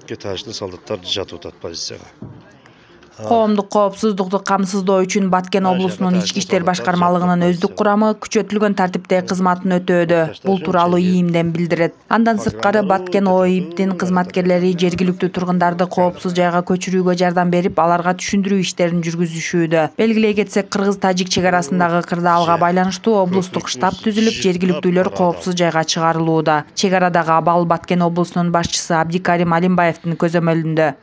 Кетажды солдаттар жатып атат позицияга. Коомдук коопсуздукту камсыздоо үчүн Баткен облусунун ички иштер башкармалыгынын өздүк курамы күчөтүлгөн тартипте кызматын өтөөдө. Бул тууралуу ИИМден билдирет. Андан сырткары Баткен ОИБдин кызматкерлери жергиликтүү тургундарды коопсуз жайга көчүрүүгө жардам берип, аларга түшүндүрүү иштерин жүргүзүшүүдө. Белгилей кетсек, кыргыз-тажик чек арасындагы кырдаалга байланыштуу облустук штаб түзүлүп, жергиликтүүлөр коопсуз жайга чыгарылууда. Чек арадагы абал Баткен облусунун башчысы Абдикарим Алимбаевдин көзөмөлүндө.